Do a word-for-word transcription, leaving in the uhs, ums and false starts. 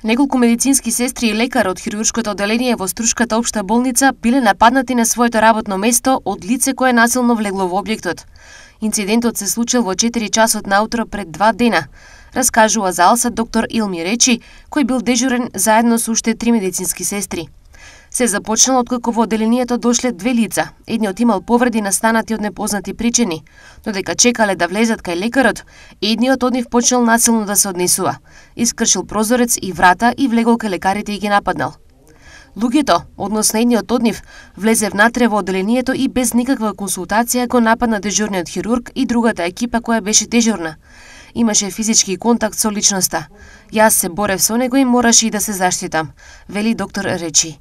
Неколку медицински сестри и лекар од хируршкото одделение во Струшката општа болница биле нападнати на своето работно место од лице кое насилно влегло во објектот. Инцидентот се случил во четири часот наутро пред два дена, раскажува за Алса доктор Илми Речи, кој бил дежурен заедно со уште три медицински сестри. Се започнало откако во одделението дошле две лица. Едниот имал повреди настанати од непознати причини, но дека чекале да влезат кај лекарот, едниот од нив почнал насилно да се однесува. Искршил прозорец и врата и влегол кај лекарите и ги нападнал. Луѓето, односно едниот од нив, влезе внатре во одделението и без никаква консултација го нападна дежурниот хирург и другата екипа која беше дежурна. Имаше физички контакт со личноста. Јас се борев со него и мораше и да се заштитам, вели доктор Речи.